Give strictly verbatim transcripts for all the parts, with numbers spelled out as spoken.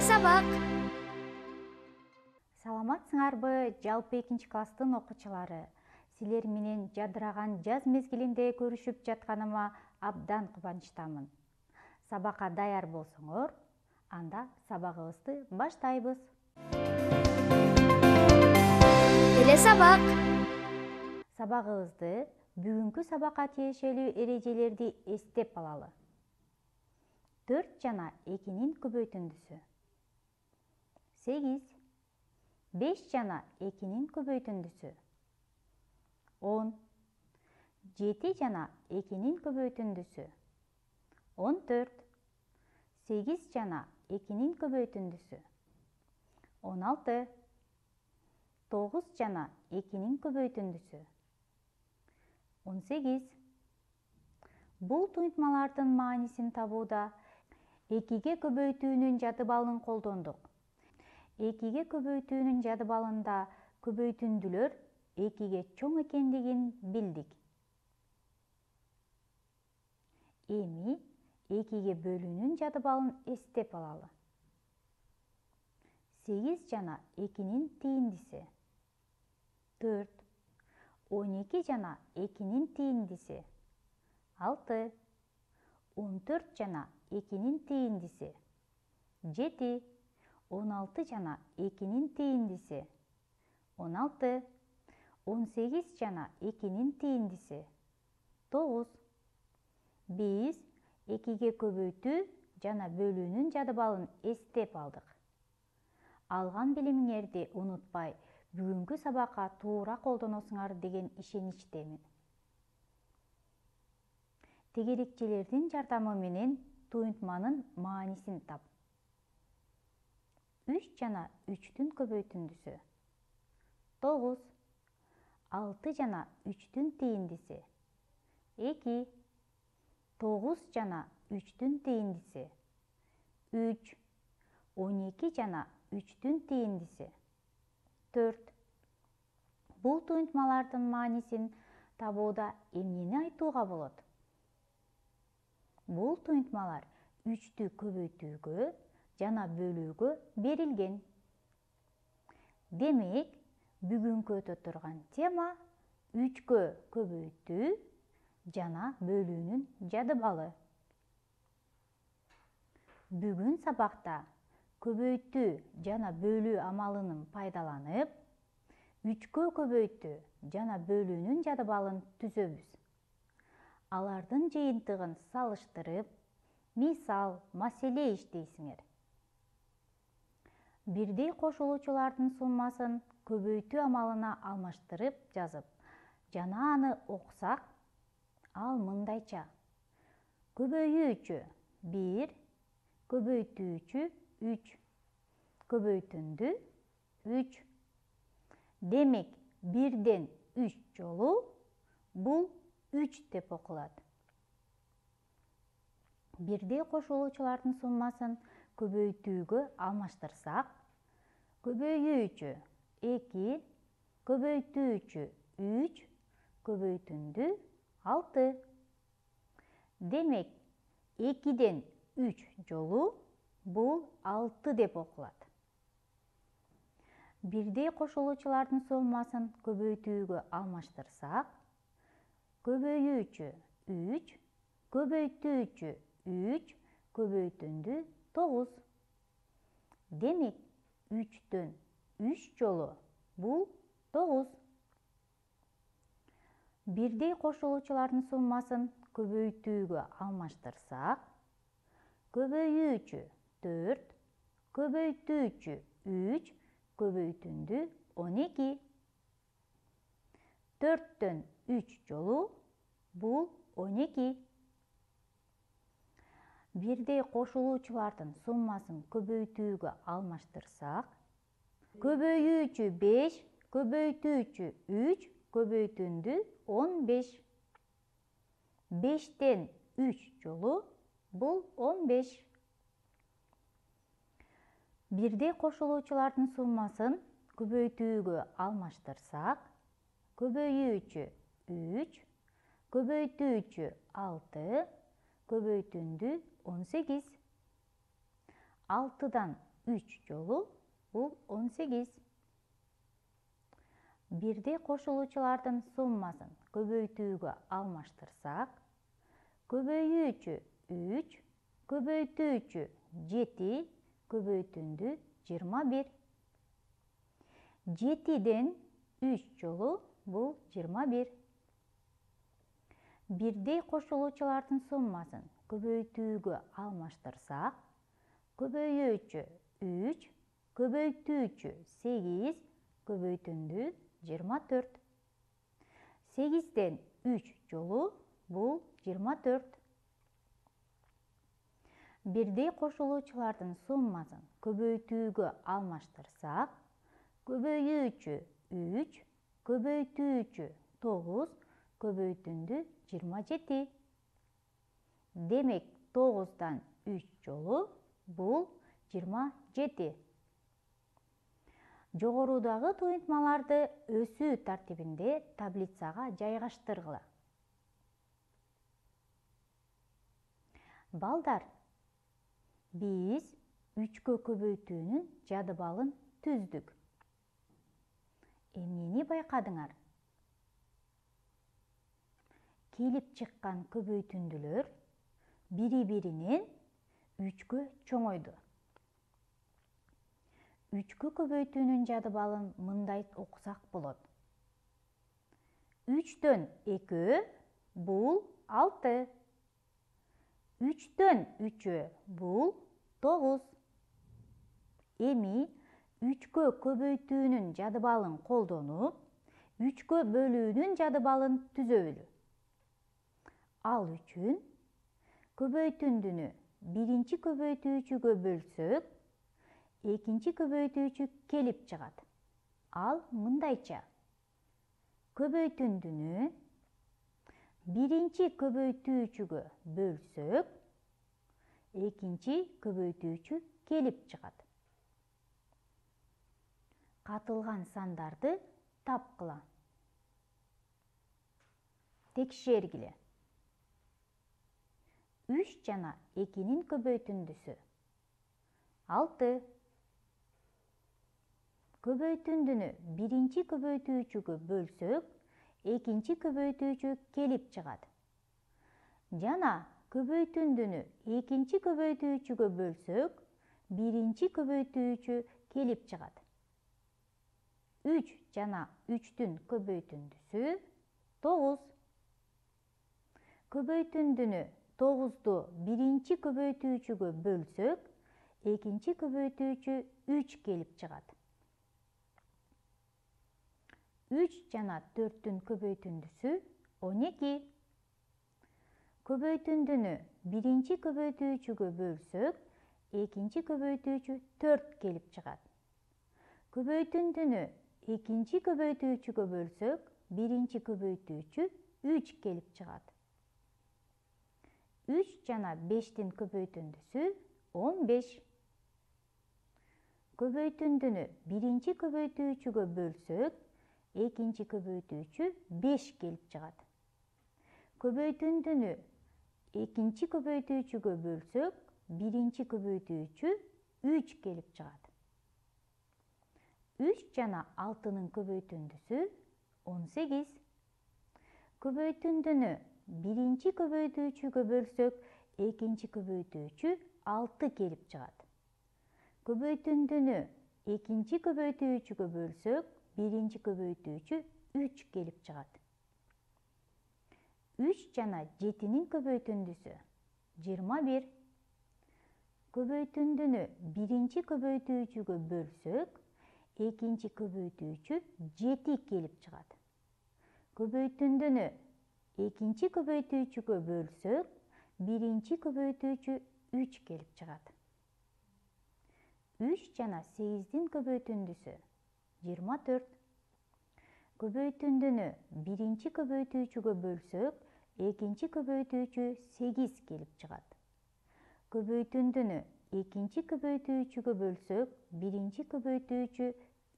сабак. Саламатсыңарбы, жалпы экинчи класстын окуучулары? Силер менен жадыраган жаз мезгилинде көрүшүп жатканыма абдан кубанычтамын. Сабакка даяр болсоңор, анда сабагыбызды баштайбыз. Эле сабак. Сабагыбызды бүгүнкү сабакка тиешелүү эрежелерди эстеп алалы. төрт жана экинин көбөйтүндүсү. сегиз. беш жана экинин көбөйтүндүсү. он. жети жана экинин көбөйтүндүсү. он төрт. сегиз жана экинин көбөйтүндүсү. он алты. тогуз жана экинин көбөйтүндүсү. он сегиз. Бул туймтмалардын маанисин табууда экиге көбөйтүүнүн жадыбалын колдондук. экиге көбөйтүүнүн жадыбалында көбөйтүндүлөр экиге чоң экендигин билдик. Эми экиге бөлүүнүн жадыбалын эстеп алалы. сегиз жана экинин тийиндиси. төрт. он эки жана экинин тийиндиси. алты. он төрт жана экинин тийиндиси. жети. он алты жана экинин тийиндиси. он алты. он сегиз жана экинин тийиндиси. тогуз. Биз экиге көбөйтүү жана бөлүүнүн жадыбалын эстеп алдык. Алган билимиңерди унутпай, бүгүнкү сабакка туура колдоносуңар деген ишеничтемин. Тегерекчелердин жардамы менен туймтманын маанисин тап. үч жана үчтүн көбөйтүндүсү. тогуз. алты жана үчтүн тийиндиси. эки. тогуз жана үчтүн тийиндиси. үч. он эки жана үчтүн тийиндиси. төрт. Бул туймтмалардын маанисин табууда эмнени айтууга болот? Бул туймтмалар үчтү көбөйтүүгө жана бөлүүгө берилген. Демек, бүгүнкү өтө турган тема үчкө көбөйтүү жана бөлүүнүн жадыбалы. Бүгүн сабакта көбөйтүү жана бөлүү амалынын пайдаланып, үчкө көбөйтүү жана бөлүүнүн жадыбалын түзөбүз. Алардын жыйынтыгын салыштырып, мисал, маселе иштейсиңер. Бирдей кошулуучулардын суммасын көбөйтүү амалына алмаштырып жазып, жана аны окусак, ал мындайча: көбөйүүчү бир, көбөйтүүчү үч, көбөйтүндү үч. Демек, бирден үч жолу бул үч деп окулат. Бирдей кошулуучулардын суммасын көбөйтүүгө алмаштырсак, көбөйүүчү эки, көбөйтүүчү үч, көбөйтүндү алты. Демек, экиден үч жолу бул алты деп окулат. Бирдей кошулуучулардын суммасын көбөйтүүгө алмаштырсак, көбөйүүчү үч, көбөйтүүчү үч, көбөйтүндү тогуз. Демек, үчтөн үч жолу бул тогуз. Бирдей кошулуучулардын суммасын көбөйтүүгө алмаштырсак, көбөйүүчү төрт, көбөйтүүчү үч, көбөйтүндү он эки. төрттөн үч жолу бул он эки. Бирдей кошулуучулардын суммасын көбөйтүүгө алмаштырсак, көбөйүүчү беш, көбөйтүүчү үч, көбөйтүндү он беш. бештен үч жолу бул он беш. Бирдей кошулуучулардын суммасын көбөйтүүгө алмаштырсак, көбөйүүчү үч, көбөйтүүчү алты, көбөйтүндү он сегиз. алтыдан үч жолу бул он сегиз. Бирдей кошулуучулардын суммасын көбөйтүүгө алмаштырсак, көбөйүүчү үч, көбөйтүүчү жети, көбөйтүндү жыйырма бир. жетиден үч жолу бул жыйырма бир. Бирдей кошулуучулардын суммасын көбөйтүүгө алмаштырсак, көбөйүүчү үч, көбөйтүүчү сегиз, көбөйтүндү жыйырма төрт. сегизден үч жолу бул жыйырма төрт. Бирдей кошулуучулардын суммасын көбөйтүүгө алмаштырсак, көбөйүүчү үч, көбөйтүүчү тогуз, көбөйтүндү жыйырма жети. Демек тогуздан үч жолу бул жыйырма жети. Жогорудагы туюнтмаларды өсүү тартибинде таблицага жайгаштыргыла. Балдар, биз үчкө көбөйтүүнүн жадыбалын түздүк. Эмнени байкадыңар? Келип чыккан көбөйтүндүлөр бири-биринен үчкө чоңойду. Үчкө көбөйтүүнүн жадыбалын мындай окусак болот. үчтөн экөө бул алты. үчтөн үчөө бул тогуз. Эми үчкө көбөйтүүнүн жадыбалын колдонуп, үчкө бөлүүнүн жадыбалын түзөлү. Ал үчүн көбөйтүндүнү биринчи көбөйтүүчүгө бөлсөк, экинчи көбөйтүүчү келип чыгат. Ал мындайча: көбөйтүндүнү биринчи көбөйтүүчүгө бөлсөк, экинчи көбөйтүүчү келип чыгат. Катылган сандарды тапкыла. Текшергиле. үч жана экинин көбөйтүндүсү алты. Көбөйтүндүнү биринчи көбөйтүүчүгө бөлсөк, экинчи көбөйтүүчү келип чыгат. Жана көбөйтүндүнү экинчи көбөйтүүчүгө бөлсөк, биринчи көбөйтүүчү келип чыгат. үч жана үчтүн көбөйтүндүсү тогуз. Көбөйтүндүнү тогузду биринчи көбөйтүүчүгө бөлсөк, экинчи көбөйтүүчү үч келип чыгат. үч жана төрттүн көбөйтүндүсү он эки. Көбөйтүндүнү биринчи көбөйтүүчүгө бөлсөк, экинчи көбөйтүүчү төрт келип чыгат. Көбөйтүндүнү экинчи көбөйтүүчүгө бөлсөк, биринчи көбөйтүүчү үч келип чыгат. үч жана бештин көбөйтүндүсү он беш. Көбөйтүндүнү биринчи көбөйтүүчүгө бөлсөк, экинчи көбөйтүүчү беш келип чыгат. Көбөйтүндүнү экинчи көбөйтүүчүгө бөлсөк, биринчи көбөйтүүчү үч келип чыгат. үч жана алтынын көбөйтүндүсү он сегиз. Көбөйтүндүнү биринчи көбөйтүүчүгө бөлсөк, экинчи көбөйтүүчү алты келип чыгат. Көбөйтүндүнү экинчи көбөйтүүчүгө бөлсөк, биринчи көбөйтүүчү үч келип чыгат. үч жана жетинин көбөйтүндүсү жыйырма бир. Көбөйтүндүнү биринчи көбөйтүүчүгө бөлсөк, экинчи көбөйтүүчү жети келип чыгат. Көбөйтүндүнү экинчи көбөйтүүчүгө бөлсөк, биринчи көбөйтүүчү үч келип чыгат. үч жана сегиздин көбөйтүндүсү жыйырма төрт. Көбөйтүндүнү биринчи көбөйтүүчүгө бөлсөк, экинчи көбөйтүүчү сегиз келип чыгат. Көбөйтүндүнү экинчи көбөйтүүчүгө бөлсөк, биринчи көбөйтүүчү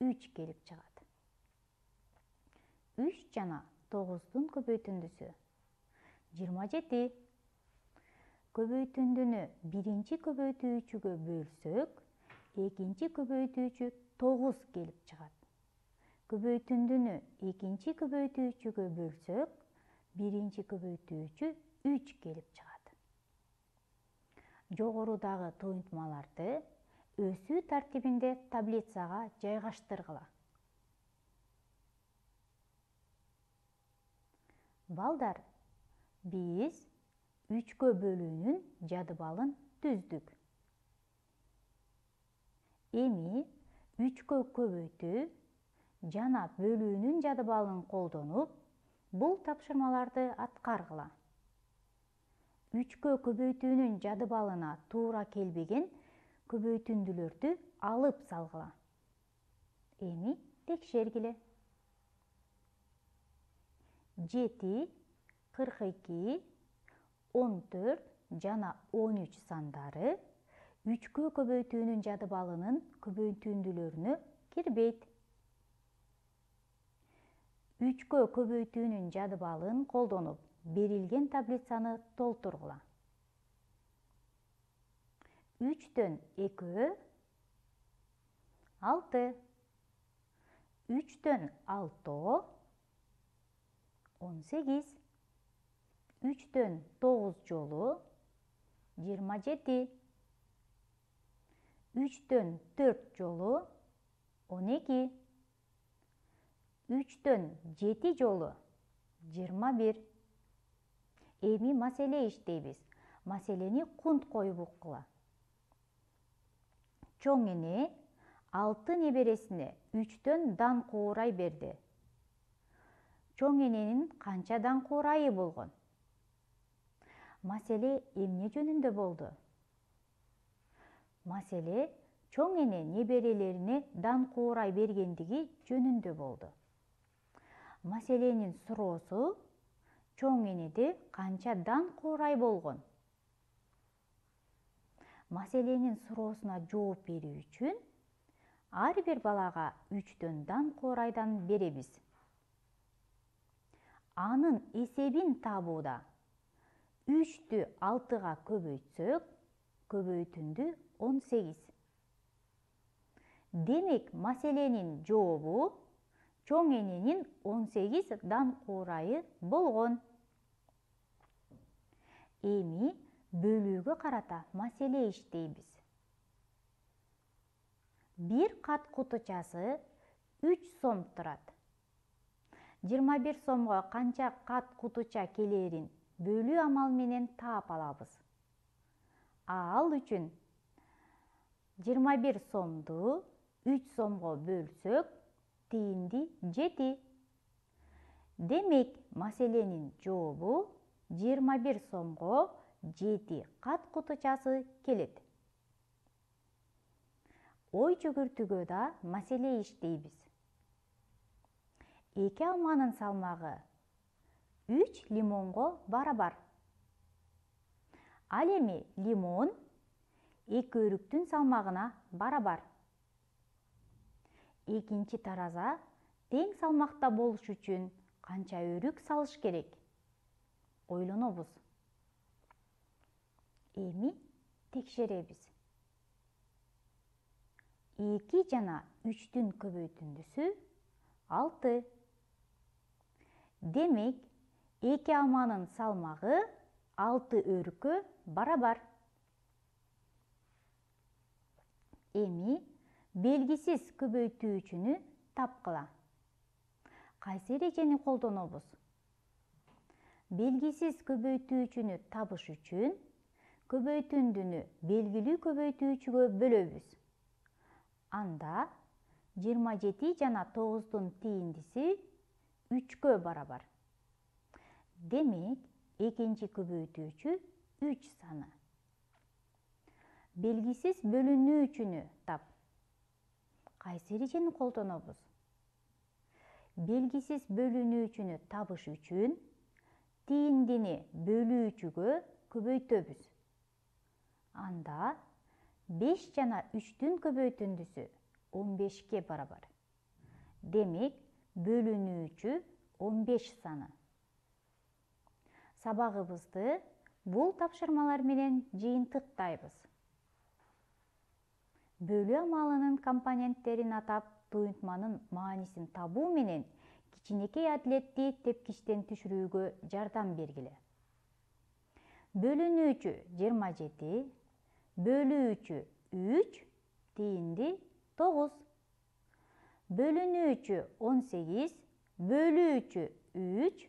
үч келип чыгат. үч жана тогуздун көбөйтүндүсү жыйырма жети. Көбөйтүндүнү биринчи көбөйтүүчүгө бөлсөк, экинчи көбөйтүүчү тогуз келип чыгат. Көбөйтүндүнү экинчи көбөйтүүчүгө бөлсөк, биринчи көбөйтүүчү үч келип чыгат. Жогорудагы тоюнтмаларды өсүү тартибинде таблицага жайгаштыргыла. Балдар, биз үчкө бөлүүнүн жадыбалын түздүк. Эми үчкө көбөйтүү жана бөлүүнүн жадыбалын колдонуп, бул тапшырмаларды аткаргыла. Үчкө көбөйтүүнүн жадыбалына туура келбеген көбөйтүндүлөрдү алып салгыла. Эми текшергиле. жети, кырк эки, он төрт жана он үч сандары үчкө көбөйтүүнүн жадыбалынын көбөйтүндүлөрүнө кирбейт. Үчкө көбөйтүүнүн жадыбалын колдонуп, берилген таблицаны толтургула. үчтөн экөө алты, үчтөн алтоо он сегиз, үчтөн тогуз жолу жыйырма жети, үчтөн төрт жолу он эки, үчтөн жети жолу жыйырма бир. Эми маселе иштейбиз. Маселени кунт коюп уккула. Чоң эне алты небересине үчтөн дан куурай берди. Чоң эненин канча дан куурайы болгон? Маселе эмне жөнүндө болду? Маселе чоң эне неберелерине дан куурай бергендиги жөнүндө болду. Маселенин суроосу чоң энеде канча дан куурай болгон? Маселенин суроосуна жооп берүү үчүн ар бир балага үчтөн дан куурайдан беребиз. Анын эсебин табууда үчтү алтыга көбөйтсөк, көбөйтүндү он сегиз. Демек, маселенин жообу чоң эненин он сегиз дан куурайы болгон. Эми бөлүүгө карата маселе иштейбиз. Бир кат кутучасы үч сом турат. жыйырма бир сомго канча кат кутуча келерин бөлүү амалы менен таап алабыз. Ал үчүн жыйырма бир сомду үч сомго бөлсөк, тиинди жети. Демек, маселенин жообу жыйырма бир сомго жети кат кутучасы келет. Ой жүгүртүүгө да маселе иштейбиз. Эки алманын салмагы үч лимонго барабар. Ал эми лимон эки өрүктүн салмагына барабар. Экинчи тараза тең салмакта болуш үчүн канча өрүк салыш керек? Ойлонобуз. Эми текшеребиз. эки жана үчтүн көбөйтүндүсү алты. Демек, эки алманын салмагы алты өрүккө барабар. Эми белгисиз көбөйтүүчүнү тапкыла. Кайсы эрежени колдонобуз? Белгисиз көбөйтүүчүнү табыш үчүн көбөйтүндүнү белгилүү көбөйтүүчүгө бөлөбүз. Анда жыйырма жети жана тогуздун тииндиси үчкө барабар. Демек, экинчи көбөйтүүчү үч саны. Белгисиз бөлүнүүчүнү тап. Кайсы эрежени колдонобуз? Белгисиз бөлүнүүчүнү табыш үчүн тииндини бөлүүчүгө көбөйтөбүз. Анда беш жана үчтүн көбөйтүндүсү он бешке барабар. Демек, бөлүнүүчү он беш саны. Сабагыбызды бул тапшырмалар менен жыйынтыктайбыз. бөлүү амалынын компоненттерин атап, туюнтманын маанисин табуу менен кичинекей адилетти тепкичтен түшүрүүгө жардам бергиле. Бөлүнүүчү жыйырма жети, бөлүүчү үч, тиинди тогуз. Бөлүнүүчү он сегиз, бөлүүчү үч,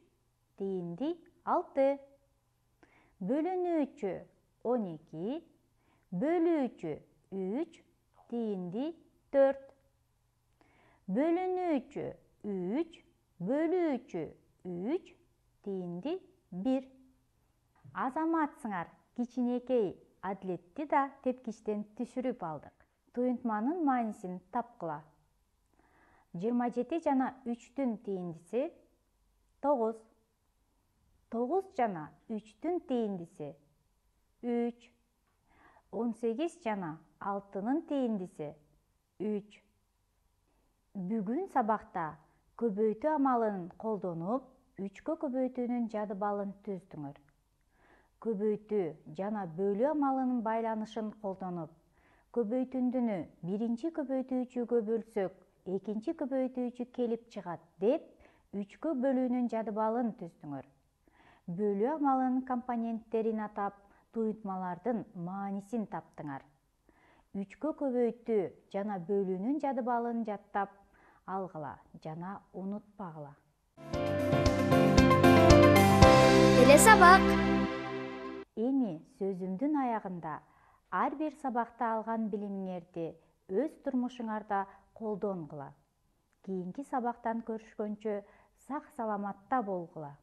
тиинди алты. Бөлүнүүчү он эки, бөлүүчү үч, тиинди төрт. Бөлүнүүчү үч, бөлүүчү үч, тиинди бир. Азаматсыңар, кичинекей адилетти да тепкичтен түшүрүп алдык. Туюнтманын маанисин тапкыла. жыйырма жети жана үчтүн тииндиси тогуз. тогуз жана үчтүн тииндиси үч. он сегиз жана алтынын тииндиси үч. Бүгүн сабакта көбөйтүү амалын колдонуп, үчкө көбөйтүүнүн жадыбалын түздүңөр. Көбөйтүү жана бөлүү амалынын байланышын колдонуп, көбөйтүндүнү биринчи көбөйтүүчүгө бөлсөк, экинчи көбөйтүүчү келип чыгат деп, үчкө бөлүүнүн жадыбалын түздүңөр. Бөлүү амалынын компоненттерин атап, туюнтмалардын маанисин таптыңар. Үчкө көбөйтүү жана бөлүүнүн жадыбалын жаттап алгыла жана унутпагыла. Келе сабак. Эми сөзүмдүн аягында ар бир сабакта алган билимиңерди өз турмушуңарда колдонгула. Кийинки сабактан көрүшкөнчө сак саламатта болгула.